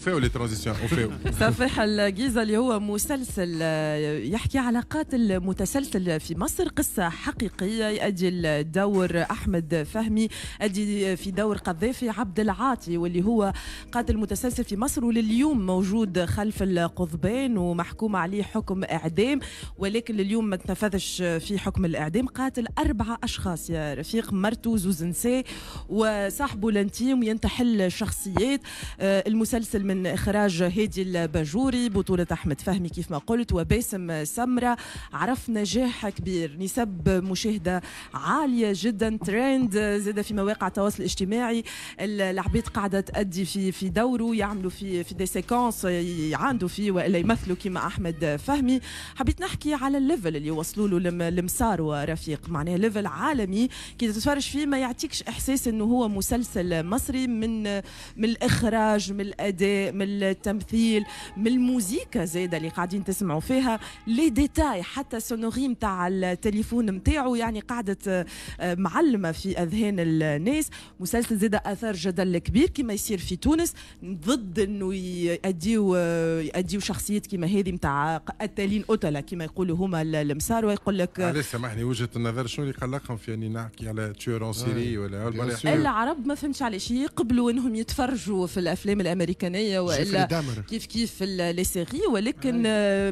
فاو les transitions وفاو. سفاح الجيزة اللي هو مسلسل يحكي على قاتل متسلسل في مصر، قصة حقيقية. يؤدي الدور أحمد فهمي، أدي في دور قذافي عبد العاطي، واللي هو قاتل متسلسل في مصر ولليوم موجود خلف القضبان ومحكوم عليه حكم إعدام، ولكن لليوم ما تنفذش في حكم الإعدام. قاتل 4 أشخاص يا رفيق، مرته، زوز نساء، وصاحبه l'intime، ينتحل شخصيات. المسلسل من إخراج هادي الباجوري، بطولة أحمد فهمي كيف ما قلت وباسم سمرة. عرف نجاح كبير، نسب مشاهدة عالية جدا، ترند زاد في مواقع التواصل الاجتماعي. العبيد قاعدة تأدي في دوره، يعملوا في des séquences يعاندوا فيه وإلا يمثلوا كيما أحمد فهمي. حبيت نحكي على ال level اللي وصلوا له المسار ورفيق، معناها level عالمي كي تتفرج فيه ما يعطيكش إحساس إنه هو مسلسل مصري، من الإخراج، من الأداء، من التمثيل، من الموزيكا زاده اللي قاعدين تسمعوا فيها، les détails، حتى sonnerie نتاع التليفون نتاعو يعني قعدت معلمه في اذهان الناس. مسلسل زاده اثار جدل كبير كما يصير في تونس، ضد انه يأديو شخصيات كما هذه نتاع قتالين قتله كما يقولوا هما المسار. ويقول لك علاش سامحني وجهه النظر شنو اللي قلقهم في اني نحكي على tueur en série ولا العرب؟ ما فهمتش علاش يقبلوا انهم يتفرجوا في الافلام الامريكانيه والا كيف كيف les séries، ولكن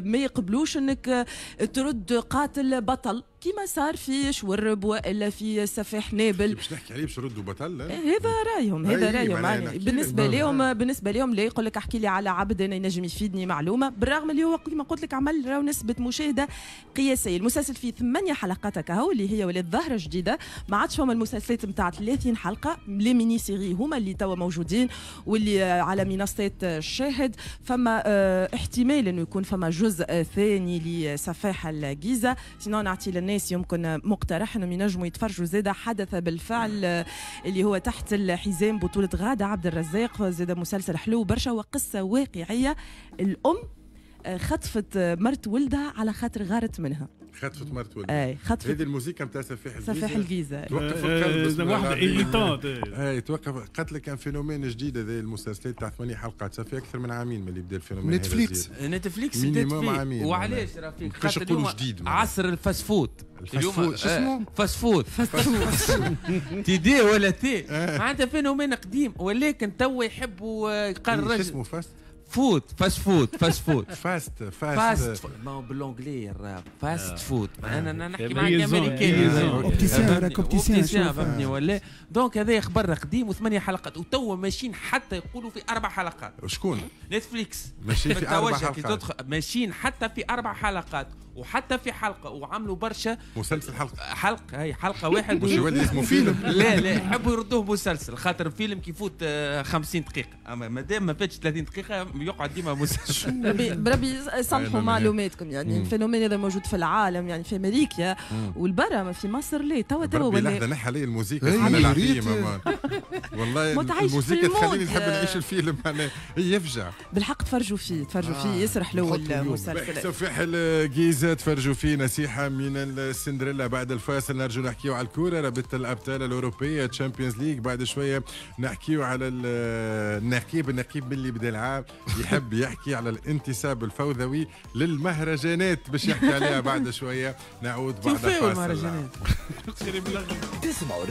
ما يقبلوش انك ترد قاتل بطل كما صار في شورب والا في سفاح نابل. باش نحكي عليه باش نردوا بطل، هذا رايهم، هذا رايهم يعني بالنسبة لهم، بالنسبة لهم لا يقول لك احكي لي على عبد انا ينجم يفيدني معلومة، بالرغم اللي هو كما قلت لك عمل راهو نسبه مشاهده قياسية. المسلسل فيه 8 حلقات كهو اللي هي ولات ظاهره جديدة، ما عادش فما المسلسلات نتاع 30 حلقة، les mini-séries هما اللي توا موجودين واللي على منصات الشاهد. فما احتمال انه يكون فما جزء ثاني لسفاح الجيزة. sinon نعطي للناس يمكن مقترح انهم ينجموا يتفرجوا زاده حدث بالفعل اللي هو تحت الحزام، بطولة غادة عبد الرزاق، زاده مسلسل حلو برشا وقصة واقعية. الأم خطفت مرت ولدها على خاطر غارت منها. خطفت مرت ولدها. اي خطفت. هذه الموسيقى نتاع سفاح الجيزة. سفاح الجيزة توقف القلب. واحدة élitante. اي توقف. قالت لك كان phénomène جديد هذا المسلسلات تاع 8 حلقات، صافي اكثر من عامين من اللي بدا ال phénomène. نتفليكس نتفليكس بدات فيه. وعلاش رفيق؟ خاطر اليوم جديد، عصر ال fast food. ال fast food شو اسمه؟ fast food تي دي ولا تي، معناتها phénomène قديم ولكن توا يحبوا قال الرجل شو اسمه fast food، fast food، fast food، fast fast، ما هو بال anglais الراب fast food. انا نحكي معاك امريكاني opticien، opticien فهمتني ولا؟ donc هذا خبر قديم وثمانية حلقات وتوا ماشيين حتى يقولوا في 4 حلقات. شكون؟ نتفليكس ماشيين في 4 حلقات، ماشيين حتى في 4 حلقات وحتى في حلقة، وعملوا برشا مسلسل حلقة هي حلقة واحد مش يولي اسمه فيلم. لا لا يحبوا يردوه مسلسل، خاطر فيلم كيفوت 50 دقيقة، اما مادام ما فاتش 30 دقيقة يقعد ديما مسلسل. بربي صلحوا معلوماتكم، يعني ال phénomène هذا موجود في العالم، يعني في امريكا والبرا، ما في مصر ليه توا ولا لحظة نحى علي الموسيقى والله الموسيقى تخليني نحب نعيش الفيلم، يفجع بالحق. تفرجوا فيه، تفرجوا فيه، يسرح له المسلسل سفاح الجيزة. تفرجوا فيه. نصيحة من السندريلا. بعد الفاصل نرجو نحكيو على الكورة، رابطة الأبطال الأوروبية Champions League. بعد شوية نحكيو على النقيب، النقيب اللي بدا العام يحب يحكي على الانتصاب الفوضوي للمهرجانات باش يحكي عليها بعد شوية. نعود بعد الفاصل. المهرجانات تسمعوا.